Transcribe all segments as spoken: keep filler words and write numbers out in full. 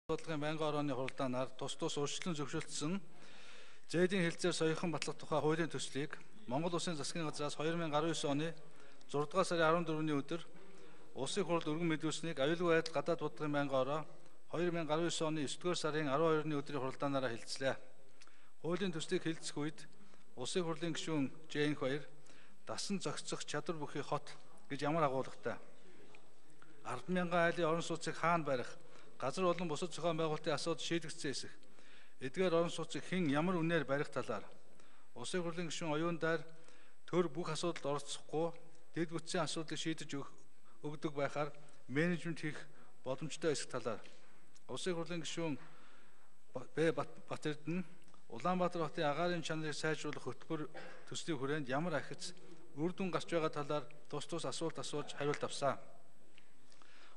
Бодлогын байнгын орооны хуралдаанаар тус тус өөрчлөлтөн зөвшөөрсөн зээдийн хэлэлцээр соёхон батлах тухай хуулийн төслийг Монгол Улсын засгийн газраас хоёр мянга араван девять оны зургаан дугаар сарын арван дөрөвний өдөр Улсын хурлд өргөн мэдүүлсэнийг аюулгүй байдал гадаад бодлогын байнгын ороо хоёр мянга араван девять оны есдүгээр сарын арван хоёрны өдрийн хуралдаанаараа хэлэлцлээ. Хуулийн төслийг хэлэлцэх үед Улсын хурлын гишүүн Жээнх баяр дасан зохицох чадвар бүхий хот гэж ямар агуулгатай. ард мянган айлын орон сууцыг хаана барих, газар болон бусад зохион байгуулалтын асуудал шийдэгдсэн эсэх, эдгээр орон сууцыг хэн ямар үнээр барих талаар Улсын хурлын гишүүн оюундар төр бүх асуудалд оролцохгүй дэд бүтцийн асуудлыг шийдэж өгдөг байхаар менежмент хийх боломжтой эсэх талаар Улсын хурлын гишүүн Б Батэрдэн Улаанбаатар хотын агаарын чанарыг сайжруулах хөтөлбөр төслийн хүрээнд ямар ахиц үр дүн гарч байгаа талаар тус тус асуулт асууж хариулт авсан.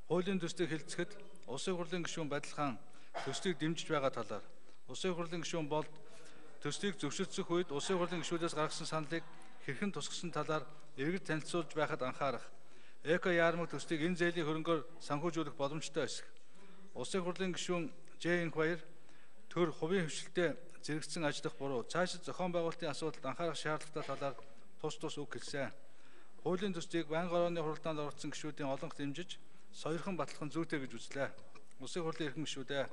Хуулийн төслийг хэлэлцэхэд Улсын хурлын гишүүн Бадилхан төслийг дэмжиж байгаа талаар Улсын хурлын гишүүн Болд төслийг зөвшөөрөх үед Улсын хурлын гишүүдээс гаргасан саналыг хэрхэн тусгасан талаар эргэж танилцуулж байхад анхаарах. Эко яармаг төслийг энэ зээлийн хөрөнгөөр санхүүжүүлэх боломжтой эсэх. Улсын хурлын гишүүн Жээнх баяр төр хувийн хвшилтэд зэрэгцсэн ажиллах буруу цаашид зохион байгуулалтын асуудалд анхаарах шаардлагатай талаар тус тус үг хэлсэн. Хуулийн төслийг байнгын орооны хуралдаанд оролцсон гишүүдийн олонх дэмжиж сойрхон батлах нь зүйтэй гэж үзлээ. Улсын хурлын эрхэм гишүүдээ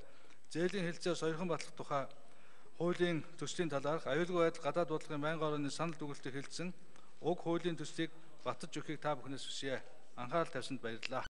зээлийн хэлэлцээр сойрхон батлах тухай хуулийн төслийн талаарх аюулгүй байдал гадаад бодлогын байнгын орооны санал дүгнэлтийг хэлэлцэн уг хуулийн төслийг батж өгөхийг та бүхнээс хүсье. Анхаарал тавьсанд баярлалаа.